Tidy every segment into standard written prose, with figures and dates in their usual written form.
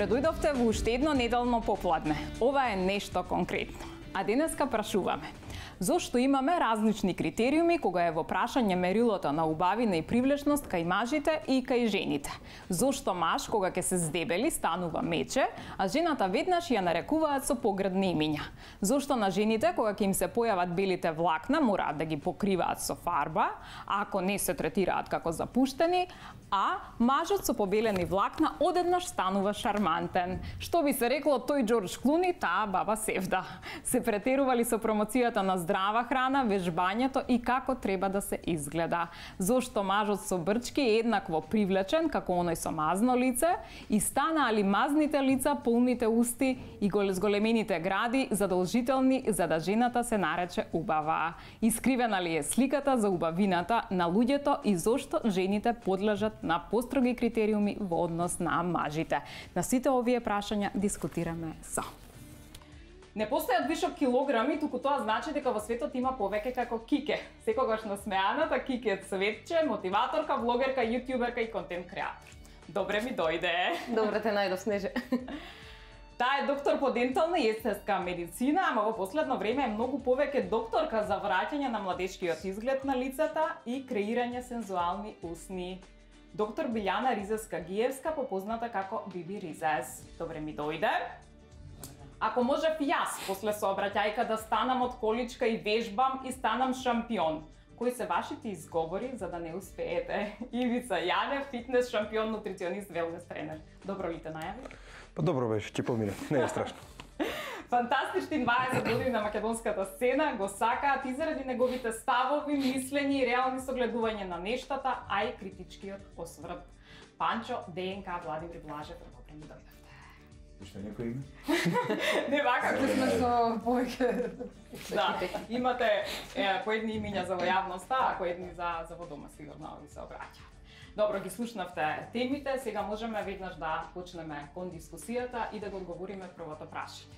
Добре дојдовте во уште едно неделно попладне. Ова е нешто конкретно. А денеска прашуваме. Зошто имаме различни критериуми кога е во прашање мерилото на убавина и привлечност кај мажите и кај жените? Зошто маж кога ќе се здебели станува мече, а жената веднаш ја нарекуваат со поградни имиња? Зошто на жените кога ќе им се појават белите влакна мораат да ги покриваат со фарба, а ако не се третираат како запуштени, а мажот со побелени влакна одеднаш станува шармантен? Што би се рекло тој Џорџ Клуни, таа баба Севда. Се претерували со промоцијата на здрава храна, вежбањето и како треба да се изгледа. Зошто мажот со брчки е еднакво привлечен како оној со мазно лице и станаали мазните лица, полните усти и зголемените гради задолжителни за да жената се нарече убава? Искривена ли е сликата за убавината на луѓето и зошто жените подлежат на построги критериуми во однос на мажите? На сите овие прашања дискутираме со. Не постојат вишок килограми, туку тоа значи дека во светот има повеќе како Кике. Секогаш насмеаната Кике Цветче, мотиваторка, влогерка, јутјуберка и контент креатор. Добре ми дојде. Добре те најдов, Снеже. Таа е доктор по дентална и естетска медицина, ама во последно време е многу повеќе докторка за враќање на младечкиот изглед на лицата и креирање сензуални усни. Доктор Билјана Ризеска-Гиевска, попозната како Биби Ризес. Добре ми дојде. Ако можев јас после сообраќајка да станам од количка и вежбам и станам шампион, кои се вашите изговори за да не успеете? Ивица Јанев, фитнес шампион, нутриционист, велнес тренер. Добро ли те најави? Па добро беше, ќе помине, не е страшно. Фантастични 20 години на македонската сцена го сакаат и заради неговите ставови, мислење и реални согледување на нештата, а и критичкиот осврт. Панчо, ДНК, Владимир Блажев, добре ми дојдовте. Што некој име? Не вака, Сме со повеќе. да, имате поедни имиња за во јавноста, а поедни за во дома сигурно ви се обраќаат. Добро, ги слушнавте темите, сега можеме веднаш да почнеме кон дискусијата и да го одговориме првото прашање.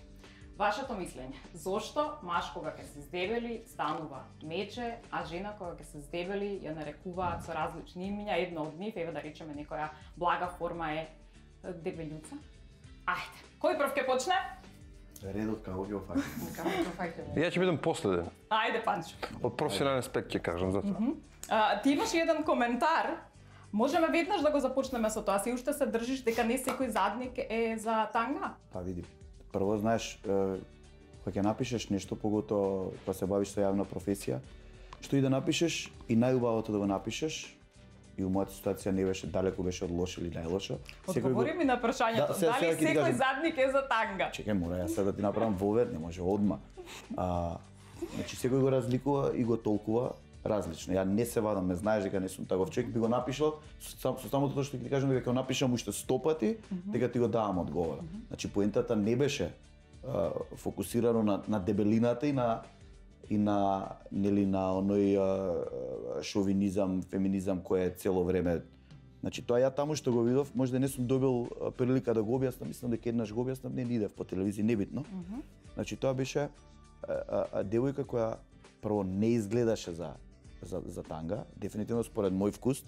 Вашето мислење, зошто маж кога ќе се здебели станува мече, а жена кога ќе се здебели ја нарекуваат со различни имиња, едно од нив, еве да речеме некоја блага форма е дебелјуца? Ајде, кој прв ќе почне? Редот како ќе офаќаме. Ја ќе бидам последен. Ајде, Панчо. Од професионален аспект ќе кажам за тоа. Ти имаш еден коментар. Можеме веднаш да го започнеме со тоа. Си уште се држиш дека не секој задник е за танга? Па види, прво знаеш, кога ќе напишеш нешто, погото кога се бавиш со јавна професија, што и да напишеш, и најубавото да го напишеш, и у мојата ситуација не беше далеку, беше од лошо или најлошо. Одговори ми на прашањето, дали секој задник е за танга? Чекај, мора јас сега да ти направам вовер, не може одма. Значи секој го разликува и го толкува различно. Ја не се вадам, ме знаеш дека не сум таков човек, би го напишал со самото тоа што ќе ти кажам дека ќе го напишам уште 100 пати, дека ти го давам одговор. Значи поентата не беше фокусирано на дебелината и на нели на оној шовинизам, феминизам кој е цело време. Значи тоа ја таму што го видов, можда не сум добил прилика да го објаснам, мислам дека еднаш го објаснам, не идев по телевизија, небитно. Значи тоа беше девојка која прво не изгледаше за танга, дефинитивно според мој вкус,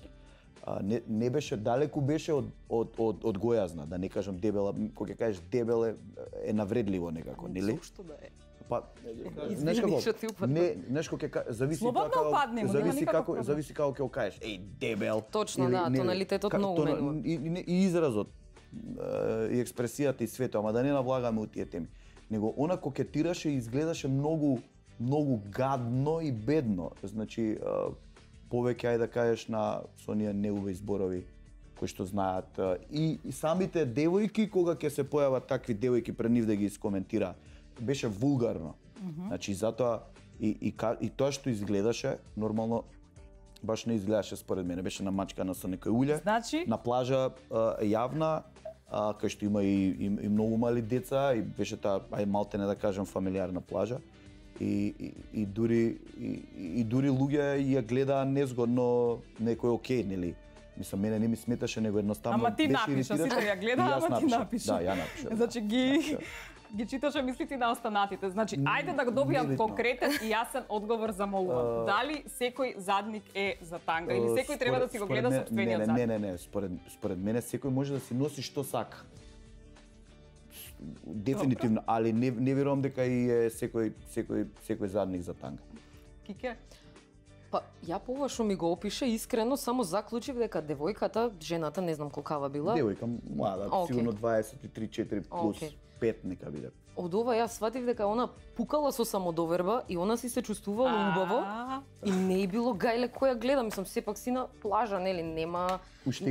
не беше далеку беше од гојазна, да не кажам дебела, кога ќе кажеш дебел е навредливо некако, нели? Што да е. Па, знаеш како? Не, знаеш како зависи како зависи како ќе кажеш. Еј, дебел. Точно, да, тоналитетот многу менува. И изразот и експресијата и свето, ама да не навлагаме у тие теми. Него она кокетираше и изгледаше многу гадно и бедно. Значи повеќе ајде да кажеш со оние неубави зборови кои што знаат и самите девојки кога ќе се појават такви девојки пред нив да ги искоментира, беше вулгарно. Значи затоа и тоа што изгледаше нормално баш не изгледаше според мене, беше намачкана со некој улје. Значи на плажа јавна кај што има и многу мали деца и беше таа малтене да кажам фамилиарна плажа. И дури луѓе ја гледаа незгодно некој окей, нели? Мислам, мене не ми сметаше, него едноставно ама ти напиша, сите ја гледаа, ама ти напиша. Да, ја напиша. Значи ги читаше мислите на останатите. Значи, ајде да го добијам конкретен и јасен одговор за молувам. Дали секој задник е за танга или секој треба да си го гледа сопствениот задник? Не, според мене секој може да си носи што сака. дефинитивно, али не верувам дека и е секој задник за танга. Кике? Па, ја по ова што ми го опише, искрено само заклучив дека девојката, жената, не знам колкава била. Девојка млада, сигурно 23-4 плюс 5 нека биде. Од ова јас сватив дека она пукала со самодоверба и она си се чувствувала убаво и не е било гајле која гледа, мислам сепак си на плажа, нели, нема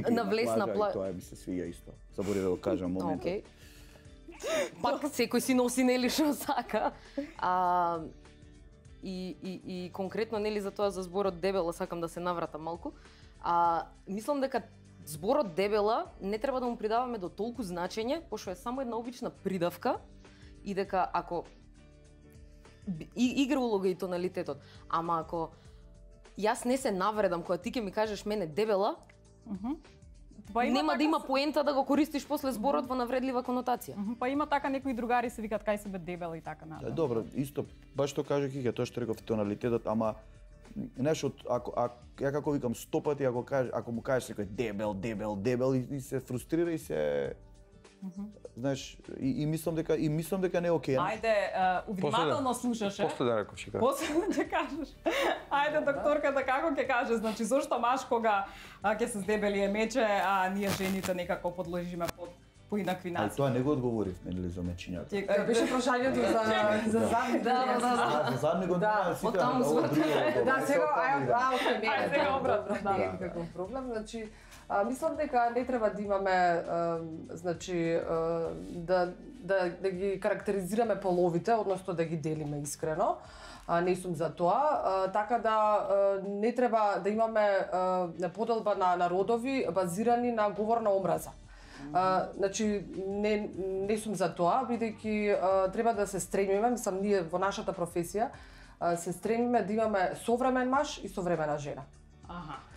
на влесна плажа. Тоа ми се свија исто. Заборев да го кажам моментот. Океј. Пак секој си носи нели што сака. И конкретно нели за тоа за зборот дебела сакам да се навратам малку. Мислам дека зборот дебела не треба да му придаваме до толку значење, пошто е само една обична придавка и дека ако игра улога и тоналитетот, ама ако јас не се навредам кога ти ќе ми кажеш мене дебела, нема да има поента да го користиш после зборот во навредлива конотација. Па има така некои другари се викат кај себе дебела и така натаму. Добро, исто баш што кажа Кике, тоа што реков тоналитетот, ама знаеш, ја како викам 100 пати ако му кажеш секој дебел и се фрустрира и се знаеш, и мислам дека не е окей. Ајде, внимателно слушаше. После да реков, чека. После да кажеш. Ајде, докторката како ќе каже, значи зошто маж кога ќе се здебели мече, а ние жените некако подложиме под поинакви нации. Тоа не го одговорив, нели, за мечињата. Беше прашањето за задник. За задник го немаа сите. Да, сега сега обратно, да. Некаков проблем, значи мислам дека не треба да имаме значи да ги карактеризираме половите, односно да ги делиме искрено. Не сум за тоа, така да не треба да имаме поделба на родови базирани на говор на омраза. Значи не сум за тоа, бидејќи треба да се стремиме, мислам ние во нашата професија се стремиме да имаме современ маж и современа жена.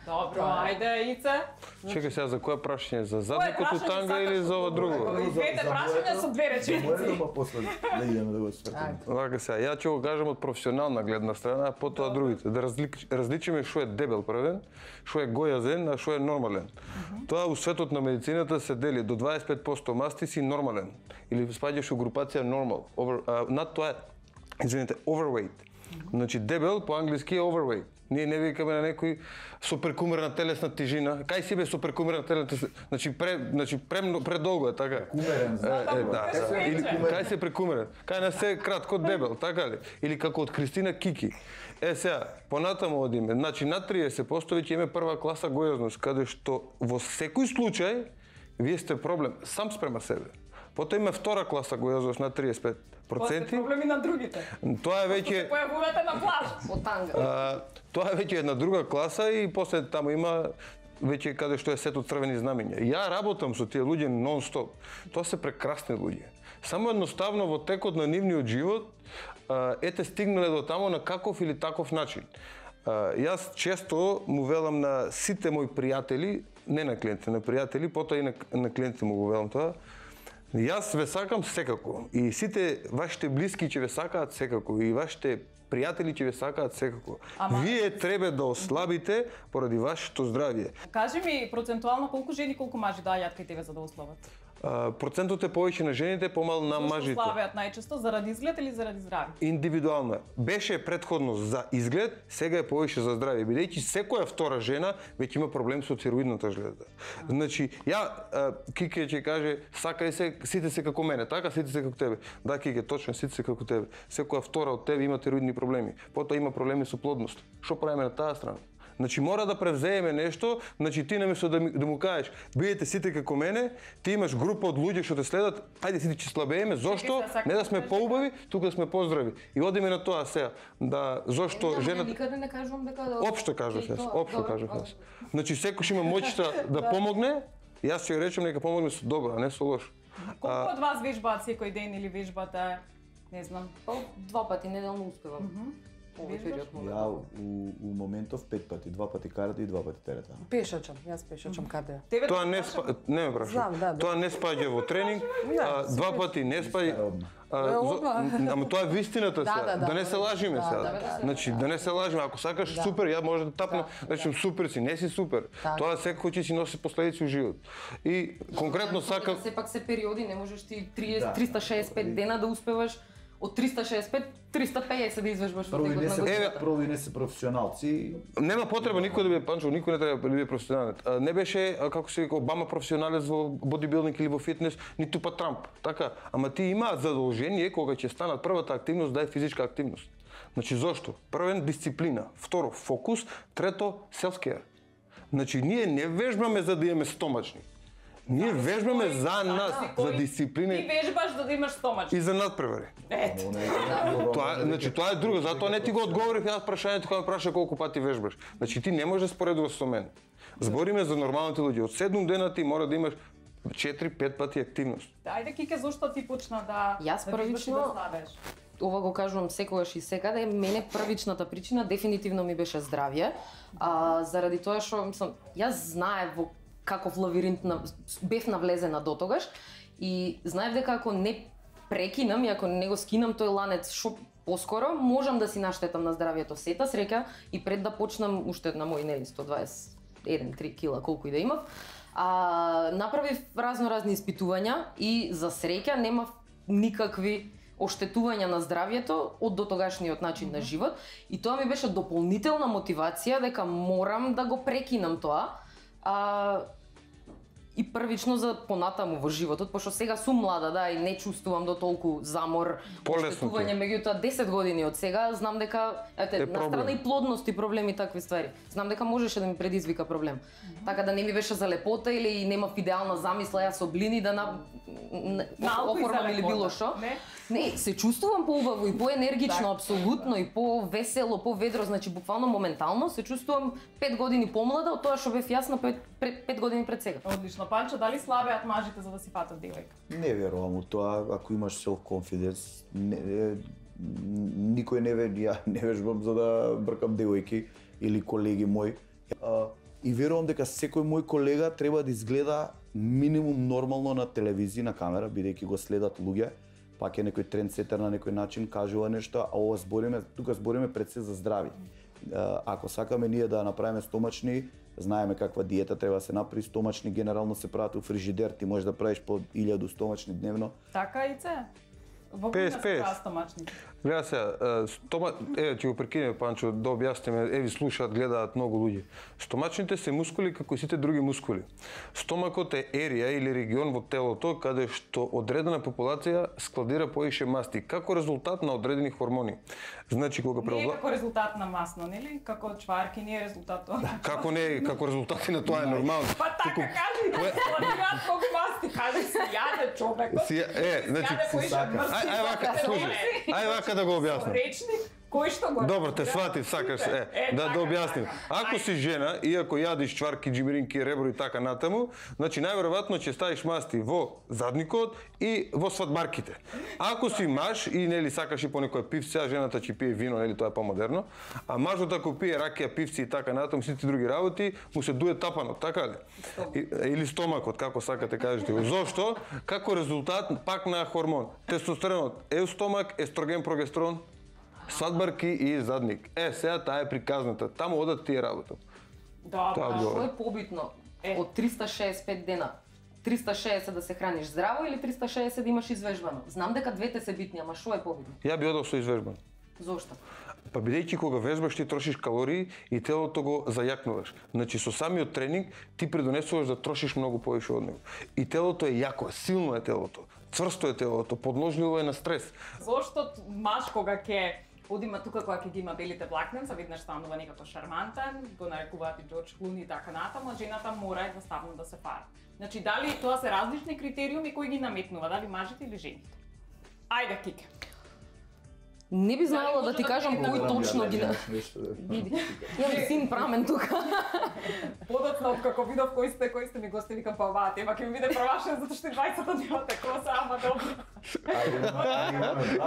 Добро, ајде Ице. Чекај сега за кое прашање, за задникот у танга или за ова друго? Двете прашања со две реченици. Па после да идеме да го свртиме. Вака сега, ја ќе го кажам од професионална гледна страна, потоа другите. Да различиме што е дебел првен, што е гојазен, а што е нормален. Тоа у светот на медицината се дели до 25% масти си нормален или спаѓаш у групација normal. Над тоа е, извините, overweight. Значи дебел по англиски е overweight. Ние не викаме на некој со прекумерна телесна тежина. Кај си бе со прекумерна телесна тежина? Значи предолго е, така? Кумерен, да. Или кај се прекумерен? Кај на се кратко дебел, така ли? Или како од Кристина Кики. Сега, понатаму одиме. Значи над 30% веќе имаме прва класа гојазност, каде што во секој случај вие сте проблем сам спрема себе. Потоа има втора класа гојазност на 35%. Проблеми на другите. Тоа е веќе се појавувате на плаж од танга. Тоа е веќе една друга класа и после таму има веќе каде што е сет од црвени знамиња. Ја работам со тие луѓе нон-стоп. Тоа се прекрасни луѓе. Само едноставно во текот на нивниот живот ете стигнале до таму на каков или таков начин. Јас често му велам на сите мои пријатели, не на клиенти, на пријатели, потоа и на клиенти му го велам тоа. Јас ве сакам секако и сите вашите блиски ќе ве сакаат секако и вашите пријатели ќе ве сакаат секако. Вие треба да ослабите поради вашето здравје. Кажи ми процентуално колку жени, колку мажи доаѓаат кај тебе за да ослабат? Процентот е повеќе на жените, помал на мажите. Зошто слабеат најчесто, заради изглед или заради здравје? Индивидуално. Беше претходно за изглед, сега е повеќе за здравје, бидејќи секоја втора жена веќе има проблем со тироидната жлеза. Значи, Кике ќе каже, сакај се, сите се како мене, така, сите се како тебе. Да, Кике, точно, сите се како тебе. Секоја втора од тебе има тироидни проблеми. Потоа има проблеми со плодност. Што правиме на таа страна? Значи мора да превзееме нешто, значи ти наместо да му кажеш, бидете сите како мене, ти имаш група од луѓе што те следат, ајде сите ќе слабееме, зошто? Не да сме поубави, тука да сме поздрави. И одиме на тоа сега, да зошто жената никаде не кажувам дека општо кажав јас. Значи секој има моќта да помогне, јас ќе речем нека помогне со добро, а не со лошо. Колку од вас вежбаат секој ден или вежбате, не знам, 2 пати неделно успевам. Ја у моментов 5 пати, 2 пати карате и 2 пати терета. Пешачам, јас пешачам каде. Тоа не ме прашувам. Тоа не спаѓа во тренинг, 2 пати не спаѓа. Ама тоа е вистината сега. Да не се лажиме сега. да. Значи, да не се лажиме. Ако сакаш супер, ја може да тапнам, значи супер си, не си супер. Тоа секој ќе си носи последици во живот. И конкретно сакам Сепак се периоди, не можеш ти 365 дена да успеваш од 365 350 да извежбаш во текот на годината. Прво и не се професионалци. нема потреба никој да биде Панчо, никој не треба да биде професионален. Не беше како се вика Обама професионалец во бодибилдинг или во фитнес, ниту па Трамп. Така, ама ти имаат задолжение кога ќе станат првата активност да е физичка активност. Значи зошто? Првен дисциплина, второ фокус, трето self-care. Значи ние не вежбаме за да имаме стомачни. Ние вежбаме за нас, за дисциплина. Ти вежбаш за да имаш стомач. И за надпревари. Тоа е друго, затоа не ти го одговорив јас прашањето кога ме праша колку пати вежбаш. Значи ти не можеш да споредуваш со мене. Збориме за нормалните луѓе. Од 7 дена ти мора да имаш 4-5 пати активност. Ајде Кике, зошто ти почна да Јас првично ова го кажувам секогаш и секаде, мене првичната причина дефинитивно ми беше здравје. Заради тоа што јас знаев во каков лавиринт бев навлезена дотогаш и знаев дека ако не прекинам и ако не го скинам тој ланец што поскоро, можам да си наштетам на здравјето. Сета среќа и пред да почнам уште на мои 121-3 кила колку и да имав, направив разни испитувања и за среќа немав никакви оштетувања на здравјето од дотогашниот начин на живот и тоа ми беше дополнителна мотивација дека морам да го прекинам тоа. И првично за понатаму во животот, пошто сега сум млада, да, и не чувствувам до толку замор, оштетување, меѓутоа 10 години од сега знам дека на страна и плодност и проблеми и такви ствари. Знам дека можеше да ми предизвика проблем. Така да не ми беше за лепота или немав идеална замисла јас со блини да оформам или било што. Не, се чувствувам поубаво и поенергично апсолутно и повесело, поведро, значи буквално моментално се чувствувам 5 години помлада од тоа што бев јас на 5 години пред сега. Одлично. Панчо, дали слабеат мажите за да си фатат девојка? Не верувам у тоа, ако имаш self-confidence, никој ја не вежбам за да бркам девојки или колеги мои. И верувам дека секој мој колега треба да изгледа минимум нормално на телевизија, на камера, бидејќи го следат луѓе, пак е некој трендсетер на некој начин, кажува нешто, а ова тука збориме пред се за здрави. Ако сакаме ние да направиме стомачни, знаеме каква диета треба да се направи, стомачни генерално се прават у фрижидер, ти можеш да правиш по 1000 стомачни дневно. Така и це. Во кој се прават стомачни? Гледа сега, ќе го прекинеме Панчо да објасниме, ви слушаат, гледаат многу луѓе. Стомачните се мускули како и сите други мускули. Стомакот е ерија или регион во телото каде што одредена популација складира поише масти како резултат на одредени хормони. Значи кога Не е како резултат на масно, нели? Како чварки не е резултат тоа. Како не е, како резултати на тоа е нормално. Па така кажи, складираат колку масти, кажи си јаде човекот. Значи ај вака, слушај. Ај вака да го објаснам. Речник кој што го. Добро, те сватив, сакаш, да објасним. Ако си жена и ако јадиш чварки, џимиринки, ребро и така натаму, значи најверојатно ќе ставиш масти во задникот и во свадбарките. Ако си маж и нели сакаш и по некој пивце, а жената ќе пие вино, нели тоа е помодерно, а мажот ако пие ракија, пивци и така натаму, сите други работи, му се дуе тапанот, така ли? Или стомакот, како сакате кажете. Зошто? Како резултат пак на хормон. Тестостеронот, еустомак, естроген, прогестерон, свадбарки и задник. Сега таа е приказната. Таму одат тие работи. А што е побитно од 365 дена? 360 да се храниш здраво или 360 да имаш извежбано? Знам дека двете се битни, ама што е побитно? Ја би одел со извежбано. Зошто? Па бидејќи кога вежбаш ти трошиш калории и телото го зајакнуваш. Значи со самиот тренинг ти предонесуваш да трошиш многу повеќе од него. И телото е јако, силно е телото. Цврсто е телото, подложливо е на стрес. Зошто маж кога ќе одима тука кога ќе ги има белите влакненца, веднаш станува некако шармантен, го нарекуваат и Џорџ Клуни и така натаму, жената мора едноставно да се фара. Значи дали тоа се различни критериуми кои ги наметнува, дали мажите или жените? Ајде Кике. Не би знаела да ти кажам кој точно ги Јам син прамен тука. Подоцна од како видов кои сте ми гости, викам па оваа тема ќе ми биде превашена затоа што 20 дни од коса, ама добро.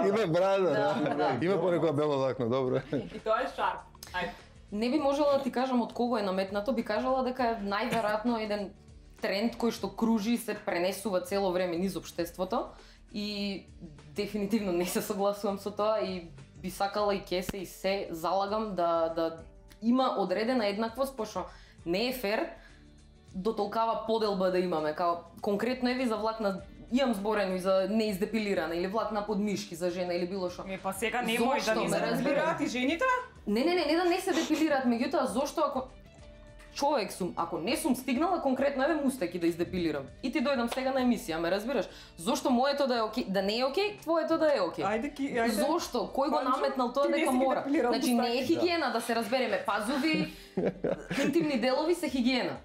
Има брада, има понекоја бело лакно, добро. И тоа е шарп. Ајде. Не би можела да ти кажам од кого е наметнато, би кажала дека е најверојатно еден тренд кој што кружи и се пренесува цело време низ општеството и дефинитивно не се согласувам со тоа и би сакала и ќе се и се залагам да има одредена еднаквост, пошто не е фер до толкава поделба да имаме, као конкретно еви за влакна имам зборено и за неиздепилирана или влакна под мишки за жена или било што. Па сега немој да ни разбираат и жените? Не да не се депилираат, меѓутоа зошто ако човек сум, ако не сум стигнала конкретно еве мустаки да издепилирам и ти дојдам сега на емисија, ме разбираш? Зошто моето да е окей, да не е окей, твоето да е окей? Ајде. Зошто? Кој го наметнал тоа дека мора? Значи не е хигиена да се разбереме, пазуви, интимни делови се хигиена.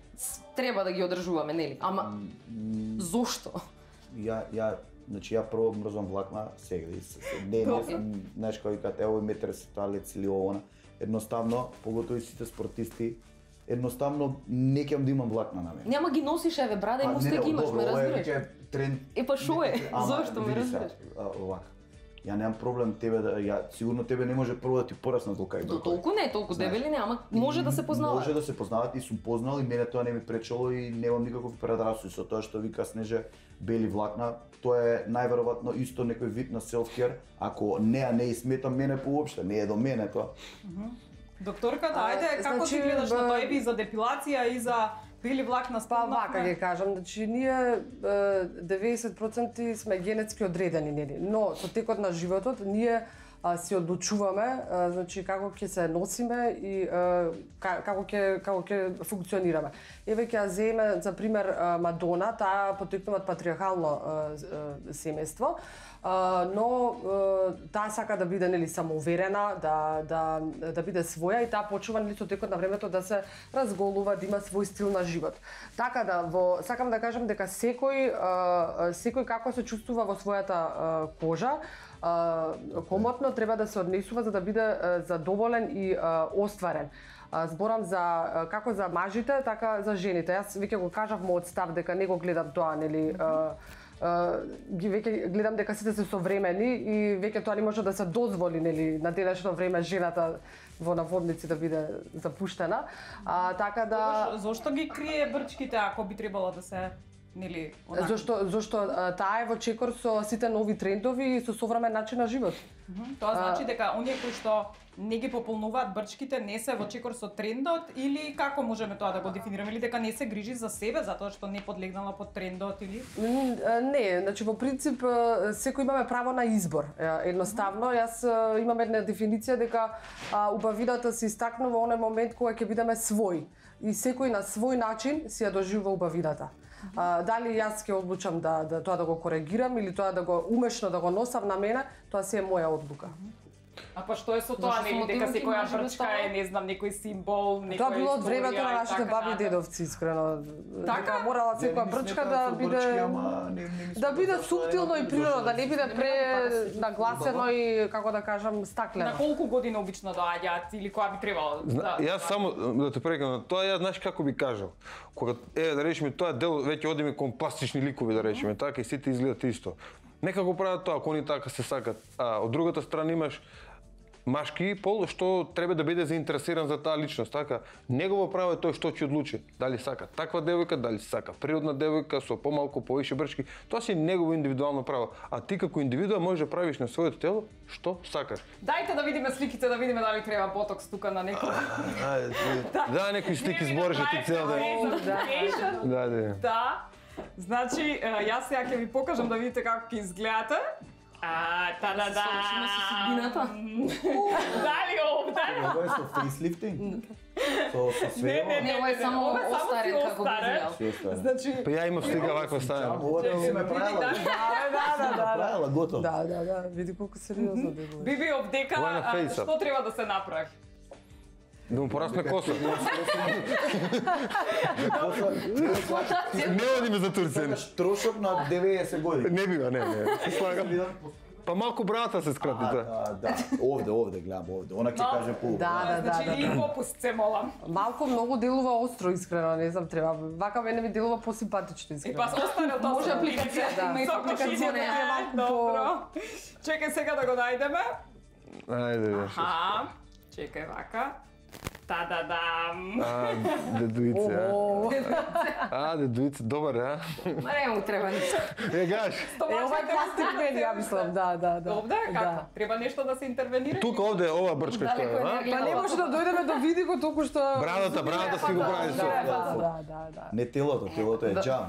Треба да ги одржуваме, нели? Ама зошто? Ја прво мрзам влакна сега. Не, знаеш кој кај ево метер се тоалет или она. Едноставно, поготово и сите спортисти, едноставно не ќе да имам влакна на мене. Нема ги носиш еве брада и мустак имаш, ме разбираш? Па шо е? Зошто ме разбираш? Овака. Ја немам проблем тебе сигурно тебе не може прво да ти порасна толку До толку не, толку дебели не, ама може да се познаваат. Може да се познаваат и сум познал и мене тоа не ми пречело и немам никаков предрасуд со тоа што вика Снеже бели влакна. Тоа е најверојатно исто некој вид на self-care, ако не сметам мене поопште, не е до мене тоа. Докторката, ајде, како ти гледаш на тоа и за депилација и за бели влакна спомнавме? Вака ги кажам, значи ние 90% сме генетски одредени, нели, но со текот на животот ние си одлучуваме, значи како ќе се носиме и како ќе функционираме. Еве ќе ја земе за пример Мадона, таа потекнува од патриархално семејство, но таа сака да биде нели самоуверена, да биде своја и таа почнува нели со текот на времето да се разголува, да има свој стил на живот. Така да сакам да кажам дека секој како се чувствува во својата кожа, комотно треба да се однесува за да биде задоволен и остварен. Зборам за како за мажите, така за жените. Јас веќе го кажав мојот став дека не го гледам тоа, нели, веќе гледам дека сите се современи и веќе тоа не може да се дозволи, нели, на денешно време жената во наводници да биде запуштена. Така да Зошто ги крие брчките ако би требало да се нели онака? Зошто таа е во чекор со сите нови трендови и со современ начин на живот. Тоа значи дека оние кои што не ги пополнуваат брчките не се во чекор со трендот или како можеме тоа да го дефинираме, или дека не се грижи за себе затоа што не подлегнала под трендот или? Не, значи во принцип секој имаме право на избор. Едноставно, јас имам една дефиниција дека убавината се истакнува во оној момент кога ќе бидеме свој и секој на свој начин си ја доживува убавината. Дали јас ќе одлучам да тоа да го коригирам или тоа да го умешно да го носам на мене, тоа си е моја одлука. А па што е со тоа, нели, дека секоја брчка е, не знам, некој символ, некоја тоа било од времето на нашите така баби и дедовци, искрено. Така морала секоја брчка да биде суптилно и природно, да не биде нагласено и како да кажам стаклено. На колку години обично доаѓаат или која би требало? Јас само да те прекинам, тоа ја знаеш како би кажал. Кога да речеме тоа дел веќе одиме кон пластични ликови да речеме, така и сите изгледат исто. Нека го прават тоа, ако они така се сакат. А од другата страна имаш машки пол што треба да биде заинтересиран за таа личност, така. Негово право е тој што ќе одлучи, дали сака таква девојка, дали сака природна девојка со помалку повише брчки, тоа си негово индивидуално право. А ти како индивидуа можеш да правиш на своето тело што сакаш. Дајте да видиме сликите, да видиме дали треба ботокс тука на некој. Да, некои слики збореше ти цел ден. Да. Значи, јас сега ќе ви покажам да видите како ќе изгледате. Та-да-да! Совршено со судбината. Дали овде? Ова е со фейслифтинг? Со све? Не, ова е само остарен како би изгледал. Значи, Па ја имам слика ваква стана. Ова да си ме правила. Правила, готово. Да, види колку сериозно делува. Биби овдека, Ова е на фейсап. што треба да се направи? Да му порасне коса. Не одиме за Турција. Трошок на 90 години. Не бива, не. Се слагам. Па малку брата се скрати, Да, овде, гледам овде. Она ќе каже полу. Да. Значи, и попуст се молам. Малку многу делува остро, искрено, не знам, треба. Вака мене ми делува посимпатично, искрено. И па остане тоа. Може апликацијата има и Со апликацијата е малку Добро. Чекај сега да го најдеме. Ајде, Аха. Чекај вака. Та-да-дам. Дедуице, дедуице, добар, а? Ма не му треба ништо. Гаш. Ова е пластик мени, ја мислам, да. Овде, како? Треба нешто да се интервенира? Тука овде, ова брчка што е, а? Па не може да дојдеме до види го толку што... Брадата си го прави со. Да. Не телото е джам.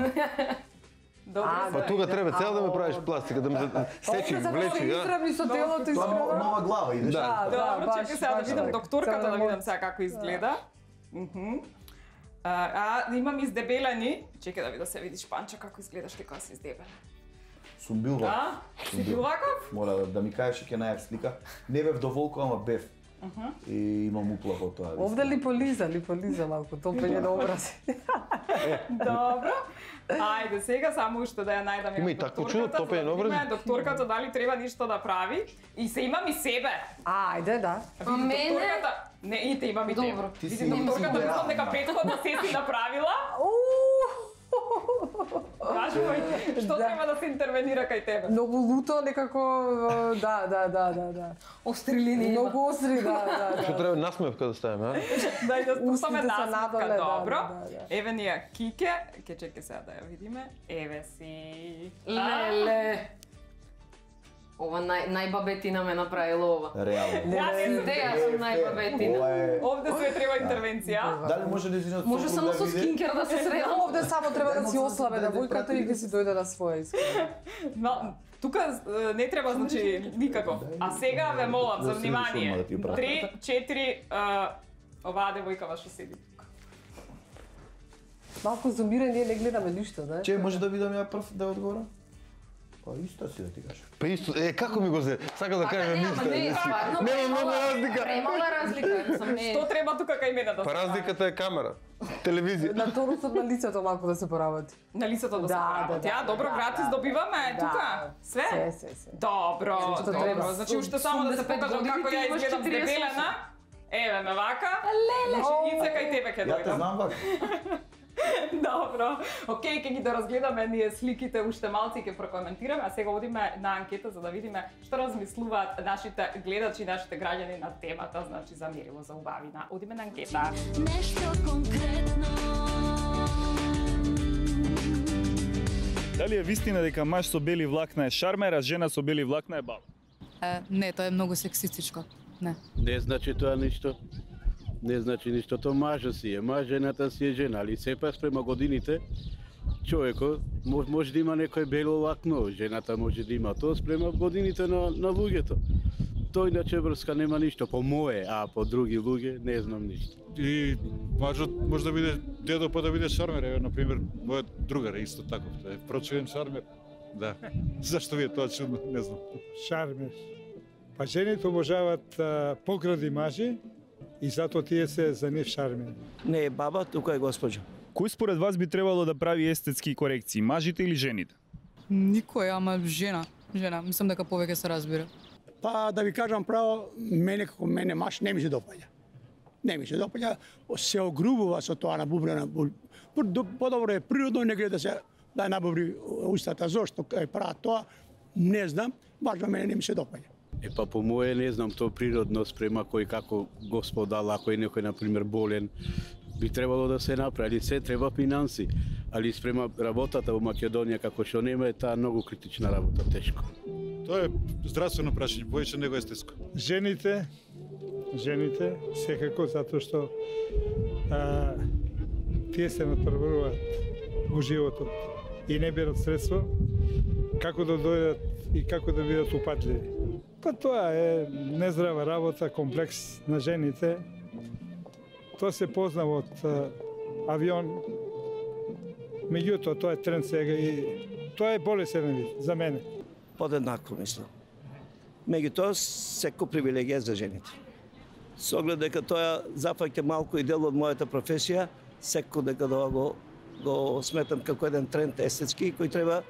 Па тука треба цел да ме правиш пластика, да ме сечи, влечи, а? Изравни со телото Тоа искрено. нова глава идеш. Добро, чекај сега да видам докторката, да видам сега како изгледа. Имам издебелени. Чекај да видам, се видиш Панчо како изгледаш ти кога си издебелен. Сум бил ваков. Си бил ваков? Мора да ми кажеш ќе најав слика. Не бев доволку, ама бев. И имам уплах од тоа. Овде липолиза малку, топење на образи. Добро. Ајде, сега само уште да ја најдам. Има и такво чудо, топење на образи? Докторката дали треба ништо да прави и се имам и себе. Ајде, да. А мене? Не, и те имам и тебе. Добро. Ти си Види, докторката имам мислам дека си претходно се си направила. Кажи ми, што треба да се интервенира кај тебе? Многу луто, некако, да. Остри линии. Многу остри, да. Што треба насмевка да ставиме, а? Дај да спустаме Устите се насмевка, надоле, добро. да. Еве ни ја Кике, ке чекай сега да ја видиме. Еве си. Леле. Ова најбабетина ме направила ова. Реално. Идеја сум најбабетина. Ова е... Овде све треба интервенција. Дали може да изинат Може само со скинкер да се средам. Овде само треба да си ослабе девојката и ќе си дојде на своја искрено. Тука не треба, значи, никако. А сега ве молам за Да се внимание. решуваме да ти брат. 3, 4, оваа девојка што седи тука. Малку зумирен, ние не гледаме ништо, да? Че може да видам ја прв да одговорам? Па исто си да ти кажам. Па исто, како ми го зе? Сака да кажам не, ништо. ама не, стварно, Нема многу разлика. Премала разлика, сум не. Што треба тука кај мене да Па се разликата е камера, телевизија. На тонусот на лицето малку да се поработи. на лицето да се Да, поработи. да, А, добро, да, гратис да. добиваме Да. тука. Све? Се. Добро, Што добро. треба. Значи уште само да се 85 покажам како години, ја ти имаш изгледам 48. дебелена. Еве ме вака. Леле. Ице кај тебе ќе Ја те дојдам. знам вака. Добро. Океј, ќе ги доразгледаме ние сликите уште малци ќе прокоментираме, а сега одиме на анкета за да видиме што размислуваат нашите гледачи, нашите граѓани на темата, значи за мерило за убавина. Одиме на анкета. Нешто конкретно. Дали е вистина дека маж со бели влакна е шармер, а жена со бели влакна е баба? Не, тоа е многу сексистичко. Не. Не значи тоа ништо. Не значи ништо, тоа мажот си е, жената си е жена, али сепак спрема годините, човекот може да има некој бело влакно, жената може да има тоа спрема годините на луѓето. Тој иначе врска нема ништо, по мое, а по други луѓе не знам ништо. И мажот може да биде дедо па да биде шармер, еве на пример мојот другар е исто таков, е прочувен шармер. Да. Зашто ви е тоа чудно, не знам. Шармер. Па жените обожаваат покради мажи и затоа тие се за нив шармери. Не е баба, тука е госпоѓа. Кој според вас би требало да прави естетски корекции, мажите или жените? Никој, ама жена. Мислам дека повеќе се разбира. Па да ви кажам право, мене како мене маж не ми се допаѓа. Не ми се допаѓа, се огрубува со тоа на бубрена. Подобро е природно, не гледа се да набубри устата. Зошто прават тоа, не знам, баш мене не ми се допаѓа. Па по мое не знам, тоа природно спрема кој како Господ дал, ако е некој на пример болен, би требало да се направи, се треба финанси, али спрема работата во Македонија како што нема е таа многу критична работа, тешко. Тоа е здравствено прашање, поише него естетско. Жените секако затоа што тие се натпреваруваат во животот и не берат средство како да дојдат и како да бидат упатливи. Па тоа е нездрава работа, комплекс на жените. Тоа се познава од авион. Меѓутоа, тоа е тренд сега и тоа е болесен вид за мене. Подеднакво мислам. Меѓутоа, секој привилегија за жените. Со оглед дека тоа зафаќа малку и дел од мојата професија, секој дека го сметам како еден тренд естетски кој треба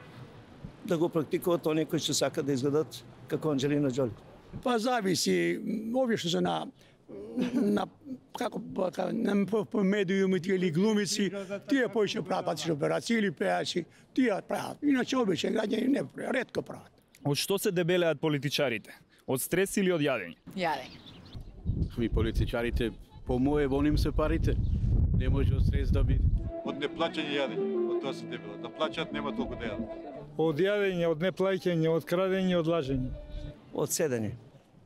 да го практикуваат оние кои што сакаат да изгледат како Анџелина Џоли. Па зависи, овие што се на по медиумите или глумици, тие поише прават пластични операции или пеачи, тие прават. Иначе обичен граѓани не прават, ретко прават. Од што се дебелеат политичарите? Од стрес или од јадење? Јадење. Ми политичарите По мое воним се парите. Не може од стрес да биде. Од неплаќање јадење, од тоа се дебела. Да плаќаат нема толку да јадат. Од јадење, од неплаќање, од крадење, од лажење. Од седење.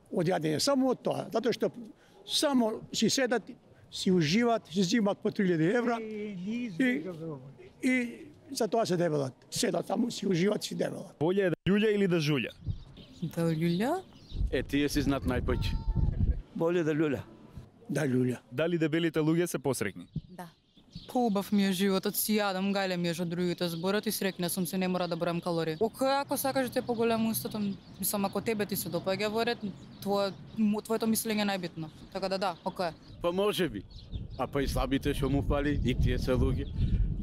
Од јадење, само од тоа, затоа што само си седат, си уживат, си зимат по 3000 евра и за тоа се дебелат. Седат само, си уживат, си дебелат. Боле е да љулја или да жулја? Да љулја? Тие си знат најпоќе. Боле да љулја. Да љулја. Дали дебелите луѓе се посрекни? Да. Поубав ми е животот, си јадам, гајле ми е од другите зборат и срекна сум се, не мора да бројам калории. Окај, ако сакаш да те поголемо устото, сам ако тебе ти се допаѓа во ред, твоето мислење е најбитно. Така да, окај. Па може би. А па и слабите што му фали, и тие се луѓе.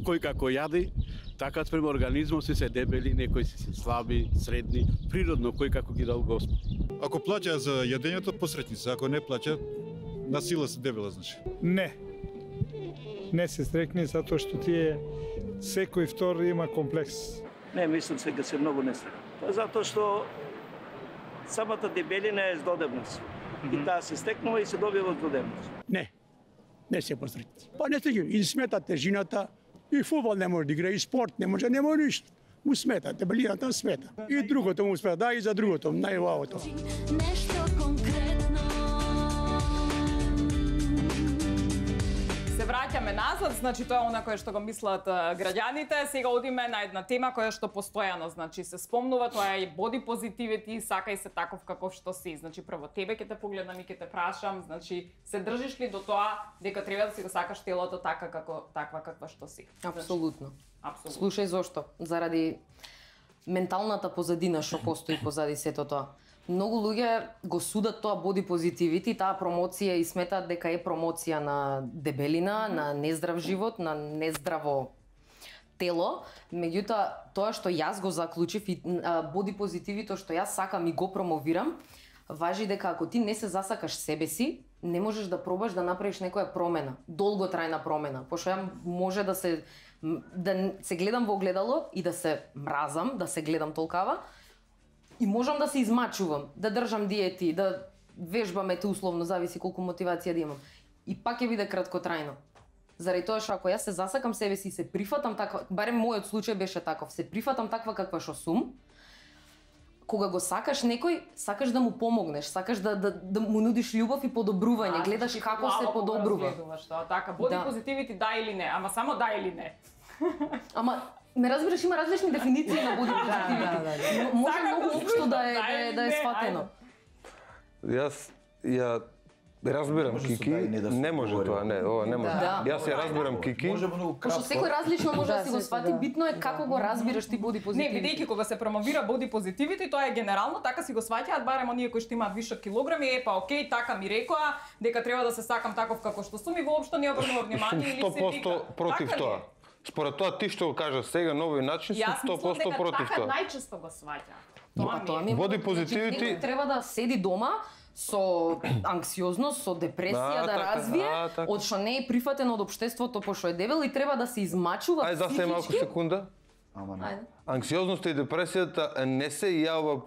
Кој како јади, така спрема организмот си се дебели, некои си се слаби, средни, природно кој како ги дал Господ. Ако плаќаат за јадењето, посретни се. Ако не плаќаат, на сила се дебела, значи. Не се стрекни затоа што тие секој втор има комплекс. Не, мислам сега се многу не стрекни. Тоа затоа што самата дебелина е здодевност. И таа се стекнува и се добива здодевност. Не се посрекни. Па не стеги, и смета тежината, и фудбал не може да игра, и спорт не може, нема ништо. Му смета, дебелината смета. И другото му смета, да, и за другото, највалото. Нешто конкретно. Се враќаме назад, значи тоа е она кое што го мислат граѓаните. Сега одиме на една тема која што постојано, значи се спомнува, тоа е и body positivity, сакај се таков каков што си. Значи прво тебе ќе те погледнам и ќе те прашам, значи се држиш ли до тоа дека треба да си го сакаш телото таква каква што си? Апсолутно. Апсолутно. Слушај зошто? Заради менталната позадина што постои позади сето тоа. Многу луѓе го судат тоа body positivity, таа промоција и сметаат дека е промоција на дебелина, на нездрав живот, на нездраво тело. Меѓутоа, тоа што јас го заклучив и body positivity што јас сакам и го промовирам, важи дека ако ти не се засакаш себе си, не можеш да пробаш да направиш некоја промена, долготрајна промена. Пошто ја може да се гледам во огледало и да се мразам, да се гледам толкава, и можам да се измачувам, да држам диети, да вежбам, условно, зависи колку мотивација да имам. И пак ќе биде краткотрајно. Заради тоа што ако јас се засакам себе си и се прифатам таква, барем мојот случај беше таков, се прифатам таква каква што сум, кога го сакаш некој, сакаш да му помогнеш, сакаш да му нудиш љубов и подобрување, гледаш како се подобрува. Така, body positivity да или не, ама само да или не. Ама ме разбираш, има различни дефиниции на body positivity. Може многу општо да е сфатено. Јас ја разбирам Кики, не може тоа, ова не може. Јас ја разбирам Кики. Пошто секој различно може да си го сфати, битно е како го разбираш ти body positivity. Не, бидејќи кога се промовира body positivity, тоа е генерално, така си го сваќаат барем оние кои што имаат вишок килограми, па окей, така ми рекоа дека треба да се сакам таков како што сум и воопшто не обрнува внимание или се вика. 100% против тоа. Според тоа ти што го кажа сега нови начин, сум 100% против тоа. Така најчесто го сваќа. Тоа ми е. Body positivity треба да седи дома со анксиозност, со депресија да развие, од што не е прифатен од општеството пошто е дебел и треба да се измачува психички. Ајде, малку секунда. Анксиозноста и депресијата не се јавува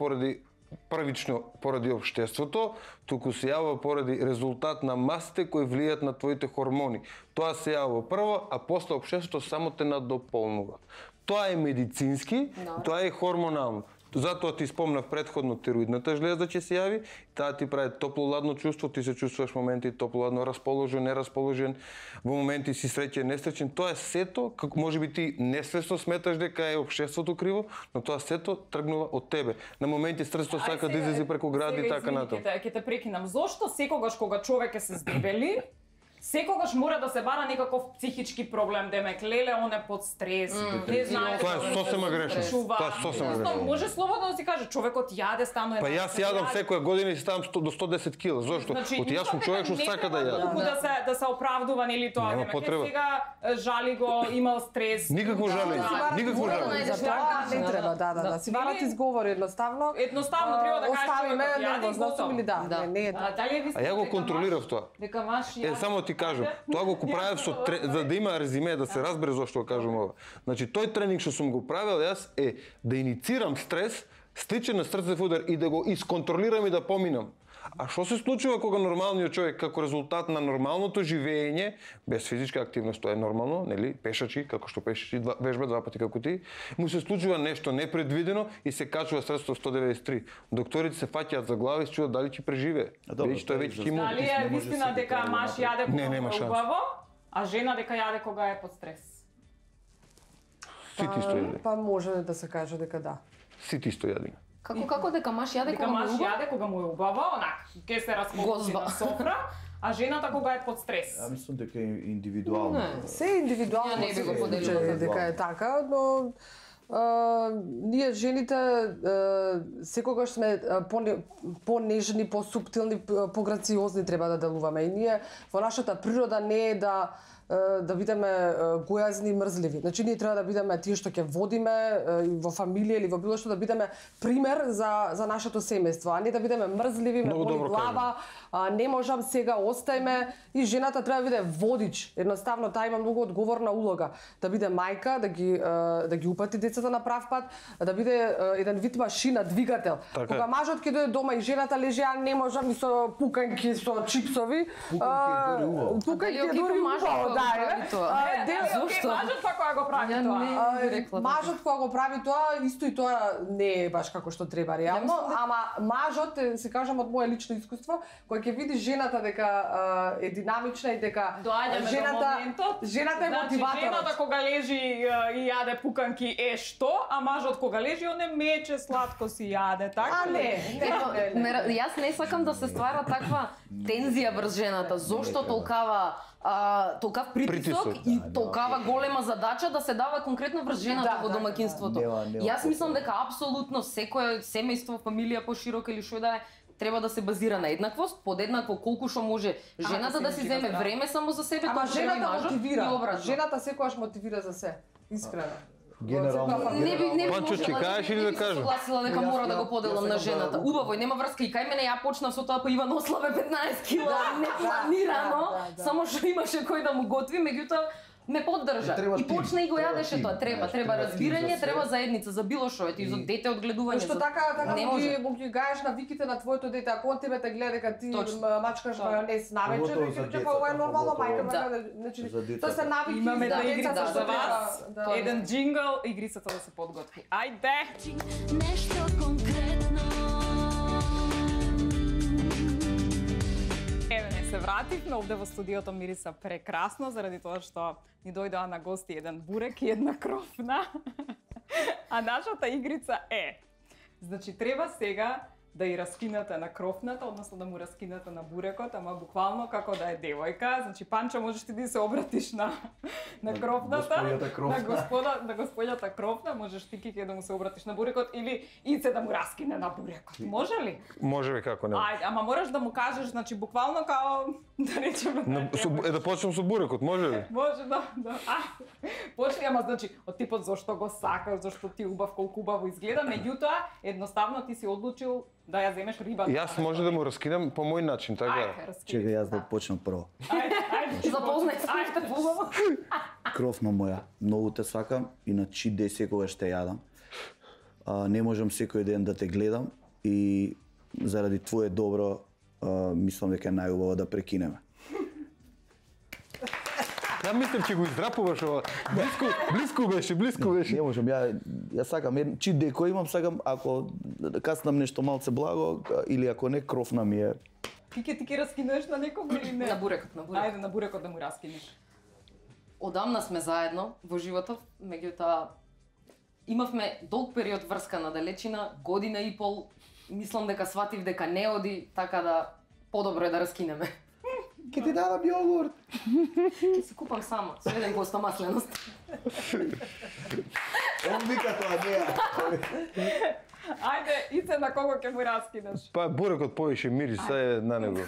првично поради општеството, туку се јавува поради резултат на масите кои влијаат на твоите хормони. Тоа се јавува прво, а после општеството само те надополнува. Тоа е медицински, тоа е хормонално. Затоа ти спомнав предходно тироидната жлеза ќе се јави, таа ти прави топло-ладно чувство, ти се чувствуваш моменти топло-ладно, расположен, нерасположен, во моменти си среќен, несреќен. Тоа е сето, како можеби ти несвесно сметаш дека е општеството криво, но тоа сето тргнува од тебе. На моменти срцето сака да излезе преку гради и така натаму. Ќе те прекинам. Зошто секогаш кога човек е се здебели, секогаш мора да се бара некаков психички проблем, демек леле, он е под стрес, не знае. Тоа е сосема грешно. Тоа е сосема грешно. Може слободно да си каже, човекот јаде, станува. Па јас јадам секоја година и ставам до 110 кила. Зошто? Оти јас сум човек што сака да јадам. Да се оправдува нели тоа, нема потреба. Сега жали го, имал стрес. Никакво жалење, никакво жалење. За тоа не треба, да. Си барат изговори едноставно. Едноставно треба да кажеш оставиме нервозност или да. Не е. А ја го контролирав тоа. Дека маш ја. Само ти кажам, тоа го правев за да има резиме, да се разбере зошто го кажам ова. Значи тој тренинг што сум го правил јас е да иницирам стрес, стичен на срцев удар и да го исконтролирам и да поминам. А што се случува кога нормалниот човек како резултат на нормалното живење, без физичка активност, тоа е нормално, нели, пешачи, како што пешачи вежба 2 пати како ти, му се случува нешто непредвидено и се качува средство 193. Докторите се фаќаат за глава и се чудат дали ќе преживее. Веќе тоа веќе ќе му. Дали е вистина дека маж јаде кога нема е убаво, а жена дека јаде кога е под стрес? Сите исто јаде. Па може да се каже дека да. Сите исто јаде. Како дека маж јаде кога му е убаво? Дека маж јаде кога му е убаво, онак, ке се расколци на софра, а жената кога е под стрес. Ја мислам дека е индивидуално. Се индивидуално, не би го поделила дека е така, но ние жените секогаш сме понежни, посуптилни, пограциозни треба да делуваме. И ние во нашата природа не е да бидеме гојазни и мрзливи. Значи ние треба да бидеме тие што ќе водиме во фамилија или во било што, да бидеме пример за нашето семејство, а не да бидеме мрзливи, ме боли глава, не можам сега, остајме. И жената треба да биде водич. Едноставно таа има многу одговорна улога, да биде мајка, да ги упати децата на прав пат, да биде еден вид машина, двигател. Кога мажот ќе дојде дома и жената лежи, ја не можам и со пуканки, со чипсови. Пуканки е дури убаво. Зошто? Мажот па кога го прави тоа? Мажот кога го прави тоа, исто и тоа не е баш како што треба реално, ама мажот, се кажам од мое лично искуство, кога ќе види жената дека е динамична и дека жената е мотиваторот. Жената кога лежи и јаде пуканки е што, а мажот кога лежи он е мече сладко си јаде, така? Јас не сакам да се ствара таква тензија врз жената. Зошто толкав притисок и толкава голема задача да се дава конкретно врз жената во домаќинството. Јас мислам дека апсолутно секое семејство, фамилија поширока или што да е, треба да се базира на еднаквост, подеднакво колку што може жената да си земе време само за себе, ама жената мотивира. Жената секогаш мотивира за се, искрено. Генерално. Не би Панчо, ќе кажеш или да кажам? Согласила дека мора да го поделам на жената. Убаво, нема врска и кај мене ја почнав со тоа, па Иван ослабе 15 кила, непланирано, само што имаше кој да му готви, меѓутоа ме поддржа. И почна и го јадеше тоа. Треба разбирање, треба заедница за било што, ето и за дете одгледување. Што така му ги гаеш навиките на твоето дете, ако он тебе те гледа дека ти мачкаш мајонез навечер, ќе ова е нормално мајка, значи тоа се навики. Имаме да игрица за вас. Еден джингл, игрицата да се подготви. Ајде. Нешто конкретно. Еве не се вративме, овде во студиото мириса прекрасно, заради тоа што ни дојдоа на гости еден бурек и една крофна. А нашата игрица е, значи треба сега да ја раскинете на крофната, односно да му раскинете на бурекот, ама буквално како да е девојка. Значи Панчо, можеш ти да се обратиш на крофната, на господјата крофна, можеш ти Кики да му се обратиш на бурекот или Ице да му раскине на бурекот. Може ли? Може би, како не. Ајде, ама мораш да му кажеш, значи буквално као да речеме. Да почнем со бурекот, може ли? Може, да. Почни, ама значи од типот зошто го сакаш, зошто ти убав, колку убаво изгледа, меѓутоа едноставно ти си одлучил да ја земеш рибата. Јас може да му раскинам по мој начин, така? Чекај јас да почнам прво. Ајде. Запознај се уште побаво. Кровна моја, многу те сакам и на чи ден секогаш те јадам. Не можам секој ден да те гледам и заради твое добро мислам дека е најубаво да прекинеме. Ја мислам че го издрапуваш ова. Блиску беше. Не можам, ја сакам чи деко имам, сакам ако каснам нешто малце благо или ако не кровна ми е. Ти ќе раскинеш на некого или не? На бурекот. Ајде на бурекот да му раскинеш. Одамна сме заедно во животот, меѓутоа имавме долг период врска на далечина, година и пол. Мислам дека сватив дека не оди, така да подобро е да раскинеме. Ке ти дадам јогурт. Ке си купам само, со 1% масленост. Он вика тоа неа. Ајде, Ице, на кого ќе му раскинеш? Па бурекот повише мириса е на него.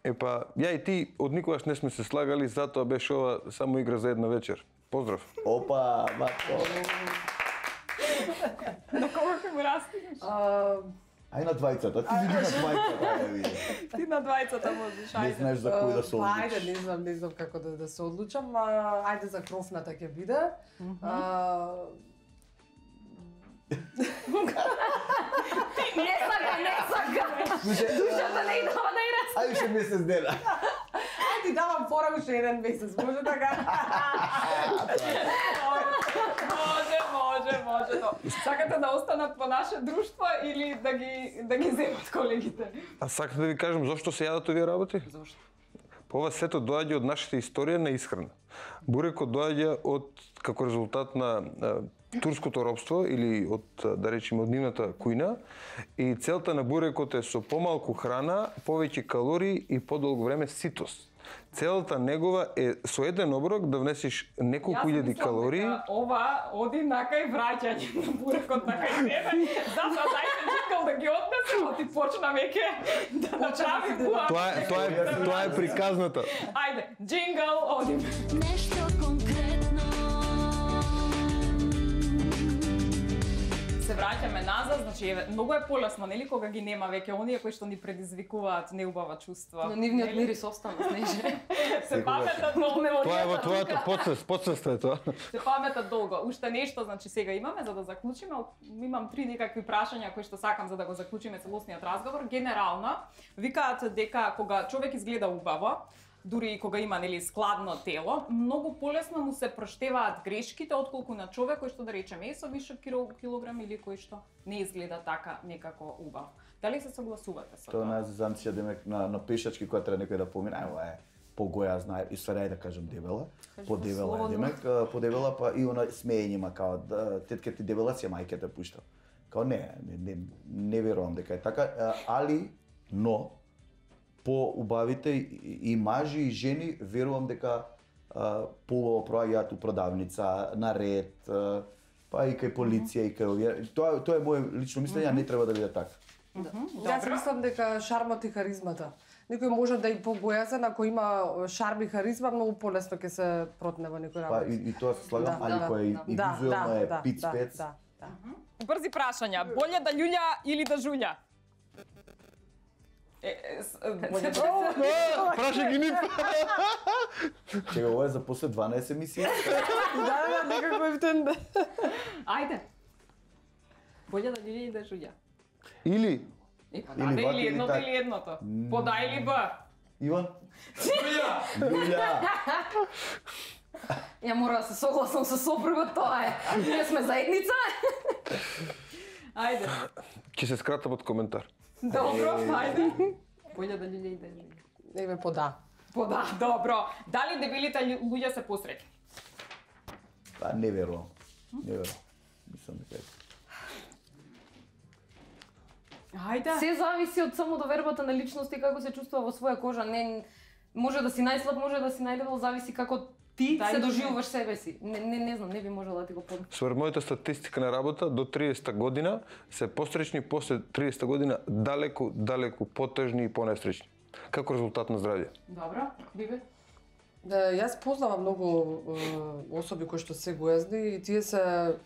Епа, ја и ти од никогаш не сме се слагали, затоа беше ова само игра за една вечер. Поздрав. Опа, матко. На кого ќе му раскинеш? Ај на двајцата, ти види на двајцата. Ти на двајцата можеш, ајде. Не знаеш за кој да се одлучиш. Ајде, не знам како да се одлучам, ајде за крофната ќе биде. Не сака. Душата не идава да и Ајде ше месец дена. Ајде ти давам фора уште еден месец, може така? Може. Сакате да останат во наше друштво или да ги земат колегите? А сакате да ви кажам зошто се јадат овие работи? Зошто? Ова сето доаѓа од нашата историја на исхрана. Бурекот доаѓа од како резултат на турското робство или од да речеме од нивната кујна и целта на бурекот е со помалку храна, повеќе калории и подолго време ситост. Целата негова е со еден оброк да внесеш неколку илјади калории. Јас мислам дека ова оди на кај враќање на бурекот на кај тебе. Затоа дајте чекал да ги однесе, а ти почна веќе да направи буа. Тоа е приказната. Ајде, джингл, одиме. Нешто конкретно. Се враќаме назад, значи многу е полесно, нели, кога ги нема веќе оние кои што ни предизвикуваат неубава чувства. Но нивниот мирис остана, снеже. Се паметат долго. Тоа е во твојата подсвест е тоа. Се паметат долго. Уште нешто, значи сега имаме за да заклучиме, имам 3 некакви прашања кои што сакам за да го заклучиме целосниот разговор. Генерално, викаат дека кога човек изгледа убаво, дури и кога има нели складно тело, многу полесно му се проштеваат грешките отколку на човек кој што да речеме е со вишок килограм или кој што не изгледа така некако убав. Дали се согласувате со Тоа тоа? на замција демек на пешачки кога треба некој да помине, ова е погоја знае и сварај да кажам дебела. Подебела е демек, подебела па и она смеење има као тетке ти дебела си мајке те пушта. Као не верувам дека е така, али но по убавите и мажи и жени верувам дека поубаво проаѓаат у продавница, на ред, па и кај полиција и кај овие. Тоа е моје лично мислење, не треба да биде така. Јас мислам дека шармот и харизмата. Некој може да и погојазен, ако има шарм и харизма, многу полесно ќе се протне во некој Па работи. и тоа се слагам, али кој и визуелно е пиц-пец. Брзи прашања. Боле да љулја или да жулја? Праша ги ни. Чега, ова е за после 12 емисија. Да, некако ефтен. Ајде. Боле да љулја или да жулја? Или Или едното или едното. По да или Б? Иван? Јулја. Ја мора да се согласам со сопругот, тоа е. Ние сме заедница. Ајде. Ќе се скрата под коментар. Добро, ајде. Боле да љулја и да жулја. Еве по да. По да, добро. Дали дебелите луѓе се посреќни? Па не верувам. Не верувам. Мислам дека е. Ајде. Се зависи од самодовербата на личноста и како се чувствува во своја кожа. Не може да си најслаб, може да си најдебел, зависи како ти се доживуваш себе си. Не знам, не би можела да ти го подам. Според мојата статистика на работа, до 30 година се посреќни, после 30 година далеку потежни и понесреќни. Како резултат на здравје. Добро, Бибе? Јас познавам многу особи кои што се гојазни и тие се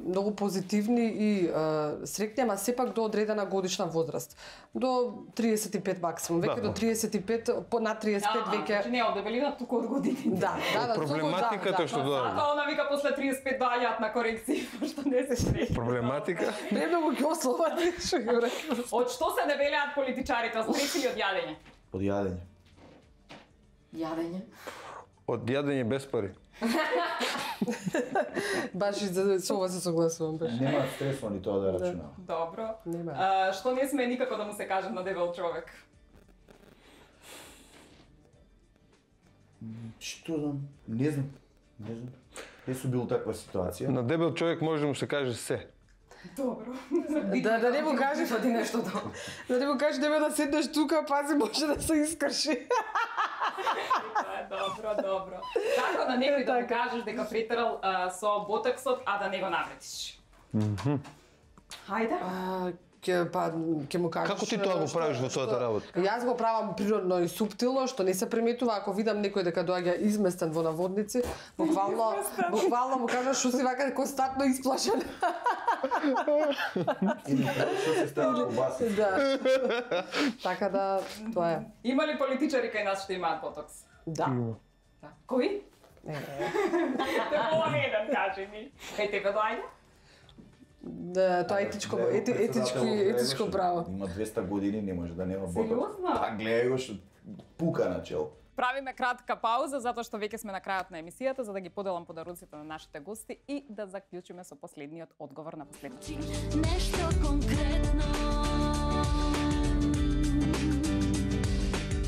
многу позитивни и среќни, ама сепак до одредена годишна возраст. До 35 максимум, веќе до 35, на 35 веќе. Значи не од дебелина, туку од годините. Да. Проблематиката што доаѓа. Затоа она вика после 35 доаѓаат на корекции, што не се среќни. Проблематика? Премногу ги ословати, што ги рекла. Од што се дебелеат политичарите, од стрес или од јадење? Од јадење. Јадење? Од јадење без пари. Баш и со ова се согласувам. Нема стресва ни тоа да рачунам. Добро. Нема. Што не сме никако да му се каже на дебел човек? Што знам? Не знам. Не сум бил таква ситуација. На дебел човек може да му се каже се. Добро. Да не му кажеш оди нештото. Да не му кажеш нема да седнеш тука, пази може да се искрши. Добро. Како на некој да му кажеш дека претерал со ботоксот, а да не го навредиш? Хајде. Ќе му кажеш. Како ти тоа го правиш во твојата работа? Јас го правам природно и суптилно, што не се приметува. Ако видам некој дека доаѓа изместен во наводници, буквално му кажам што си вака константно исплашен. Или што се става во бас. Да. Така да, тоа е. Има ли политичари кај нас што имаат ботокс? Да. Кои? Те еден кажи ми. Кај тебе доаѓа? тоа е етичко право. Има 200 години, не може да нема ботокс. Сериозно? Па гледај го што пука на чел. Правиме кратка пауза затоа што веќе сме на крајот на емисијата за да ги поделам подаруците на нашите гости и да заклучиме со последниот одговор на последниот. Нешто конкретно.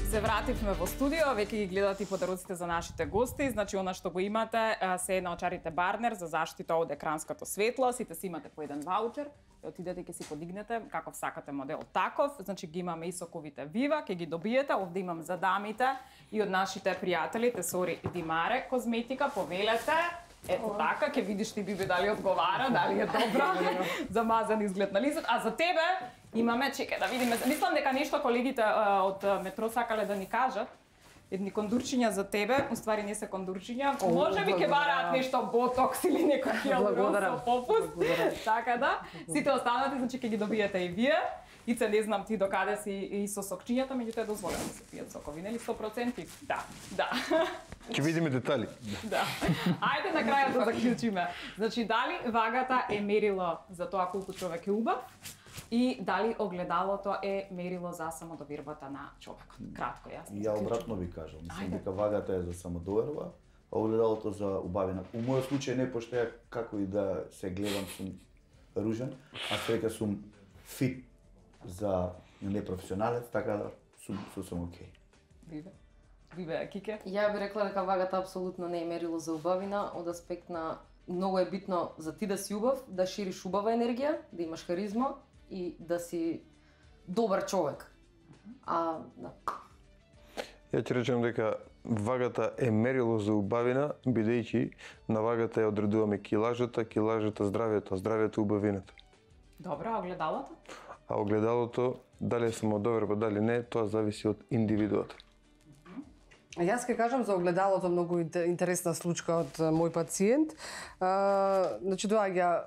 Се вративме во студио, веќе ги гледате и подаруците за нашите гости. Значи, она што го имате се на очарите Барнер за заштита од екранското светло. Сите си имате по еден ваучер. Отидете и ќе си подигнете каков сакате модел таков. Значи, ги имаме и соковите Вива, ќе ги добиете. Овде имам за дамите и од нашите пријатели Тесори Димаре козметика. Повелете. Ето така, ќе видиш ти Биби дали одговара, дали е добра, замазан изглед на листот. А за тебе имаме, чекај да видиме, мислам дека нешто колегите од метро сакале да ни кажат. Едни кондурчиња за тебе, уствари не се кондурчиња, може би ќе бараат нешто ботокс или некој хиалурон со попуст. Така да, сите останати, значи ќе ги добиете и вие. Ице, не знам ти докаде си и со сокчињата, меѓутоа е дозволено да се пијат сокови, нели 100%? Да. Ќе видиме детали. Да. Ајде на крајот да заклучиме. Значи, дали вагата е мерило за тоа колку човек е убав и дали огледалото е мерило за самодовербата на човекот? Кратко, јасно. Ја обратно ви кажам. Мислам дека вагата е за самодоверба, а огледалото за убавина. У мојот случај не пошто ја како и да се гледам сум ружен, а сега сум фит за непрофесионалец, така да сум окей. Бибе, Кике? Ја би рекла дека вагата апсолутно не е мерило за убавина, од аспект на многу е битно за ти да си убав, да шириш убава енергија, да имаш харизма и да си добар човек. Да. Ја ќе речем дека вагата е мерило за убавина, бидејќи на вагата ја одредуваме килажата здравјето, а здравјето убавината. Добро, а огледалото? А огледалото, дали е самодоверба, дали не, тоа зависи од индивидуата. Јас ќе кажам за огледалото многу интересна случка од мој пациент. Значи доаѓа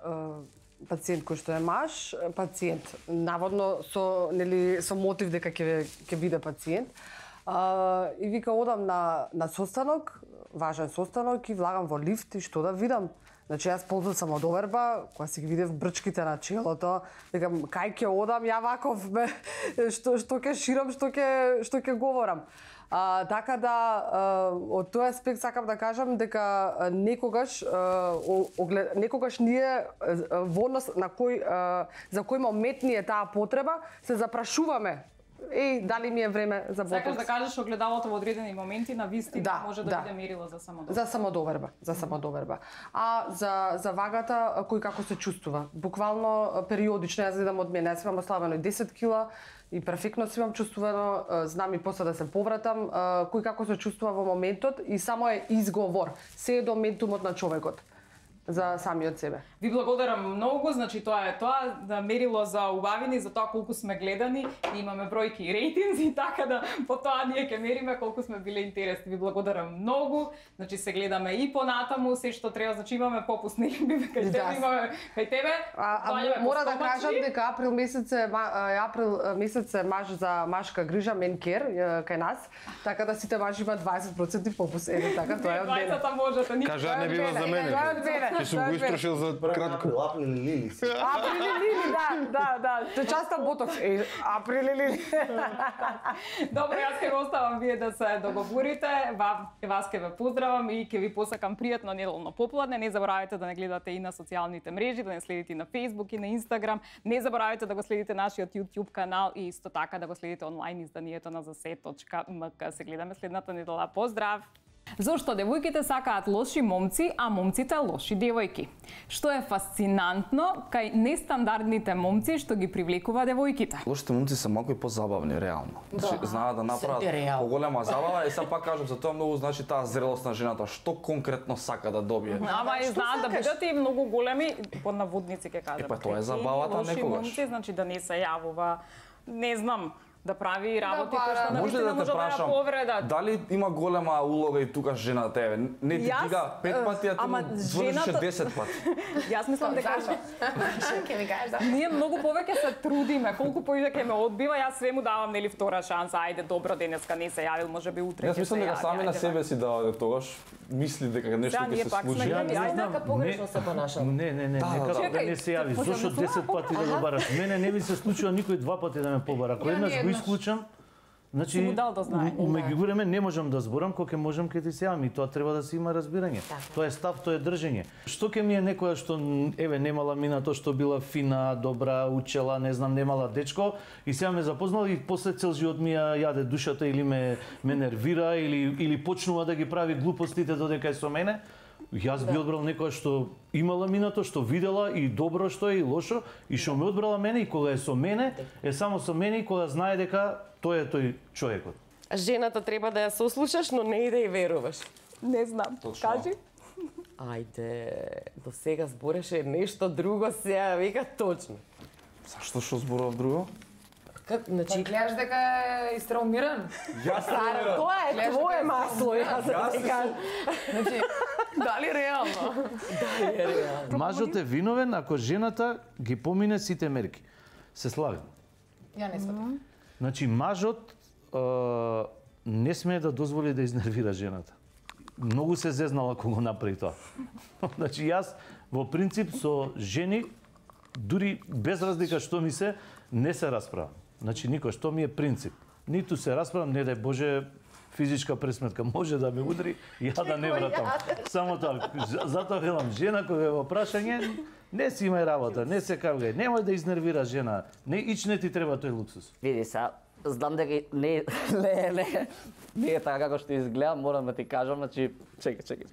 пациент кој што е маж, пациент наводно со мотив дека ќе биде пациент. И вика одам на состанок, важен состанок и влагам во лифт и што да видам. Значи јас ползам самодоверба, кога си ги видев брчките на челото, викам кај ќе одам, ја ваков што ќе ширам, што ќе говорам. Така да, од тој аспект сакам да кажам дека некогаш ние во однос на за кој момент ни е таа потреба, се запрашуваме дали ми е време за ботокс. Сакаш да кажеш огледалото во одредени моменти на вистина може да биде мерило за самодоверба. За самодоверба. А за вагата кој како се чувствува. Буквално периодично јас гледам од мене, јас имам ослабено 10 кила и перфектно си имам чувствувано, знам и после да се повратам, кој како се чувствува во моментот и само е изговор. Се е до ментумот на човекот за самиот себе. Ви благодарам многу, значи тоа да мерило за убавини, за тоа колку сме гледани, имаме бројки и рейтинзи, така да по тоа ние ќе мериме колку сме биле интересни. Ви благодарам многу, значи се гледаме и понатаму, се што треба, значи имаме попуст, нели Бибе, кај тебе имаме, кај тебе. Мора да кажам дека април месец е маж за машка грижа, мен кер кај нас, така да сите мажи имаат 20% попуст. Ете така, тоа е од мене. 20 можете, никога. Кажа не бива за мене. Ќе сум го истрошил за кратко. Април лили си. Април лили, да. Часто ботокс. Април лили. Добро, јас ќе го оставам вие да се договорите. Вас ќе ве поздравам и ќе ви посакам пријатно неделно попладне. Не заборавајте да не гледате и на социјалните мрежи, да не следите и на Facebook и на Instagram. Не заборавајте да го следите нашиот YouTube канал и исто така да го следите онлайн изданието на zase.mk. Се гледаме следната недела. Поздрав! Зошто девојките сакаат лоши момци, а момците лоши девојки? Што е фасцинантно кај нестандардните момци што ги привлекува девојките? Лошите момци се малку и позабавни, реално. Значи, знаат да направат поголема забава и сега пак кажам за тоа многу значи таа зрелост на жената, што конкретно сака да добие. Ама и знаат да бидат и многу големи, под наводници ќе кажам. Тоа е забавата некогаш. Лоши момци, значи да не се јавува, не знам, да прави работи кои што Може навистина да те може да ја прашам, повредат. дали има голема улога и тука жената еве? Не ти дига 5 пати, а ти му звршише 10 пати. Јас мислам дека Ќе ми кажеш да. ние многу повеќе се трудиме, колку повеќе ќе ме одбива, јас све му давам нели втора шанса. Ајде, добро, денеска не се јавил, можеби утре ќе се јави. Јас мислам дека сами на ајде, себе си да тогаш мисли дека нешто ќе се случи. Ја нека погрешно се понашам. Не, како да не се јави. Зошто 10 пати да го бараш? Мене не ми се случува никој 2 пати да ме побара. Ако еднаш го исклучам, значи меѓу време не можам да зборам, кога ќе можам ќе ти се јавам и тоа треба да се има разбирање. Тоа е став, тоа е држење. Што ќе ми е некоја што еве немала минато, што била фина, добра, учела, не знам, немала дечко и сега ме запознала и после цел живот ми ја јаде душата или ме нервира или почнува да ги прави глупостите додека е со мене. Јас би одбрал некоја што имала минато, што видела и добро што е и лошо и што ме одбрала мене и кога е со мене, е само со мене и кога знае дека тој е тој човекот. Жената треба да ја сослушаш, но не и да ја веруваш. Не знам. Кажи. Ајде, до сега збореше нешто друго, сега вика точно. Зашто што зборував друго? Значи, гледаш дека е истраумиран? Јас тоа е твое масло, јас да ти кажам. Значи, дали реално? Дали е реално? Мажот е виновен ако жената ги помине сите мерки. Се славим. Ја не сватам. Значи, мажот не смее да дозволи да изнервира жената. Многу се зезнала кога го направи тоа. Значи, јас во принцип со жени, дури без разлика што ми се, не се расправам. Значи, никој, што ми е принцип. Ниту се расправам, не дај Боже, физичка пресметка може да ме удри, ја да не вратам. Само тоа. Затоа велам, жена кога е во прашање, не си имај работа, не се кавгај, немој да изнервира жена. Не ти треба тој луксус. Види са, знам дека не е така како што изгледа, морам да ти кажам, значи, чекај.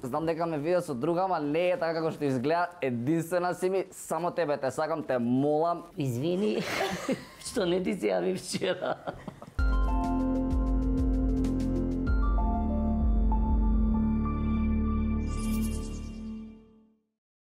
Знам дека ме видел со друга, ама не е така како што изгледа. Единствена си ми, само тебе те сакам, те молам, извини, што не ти се јави вчера.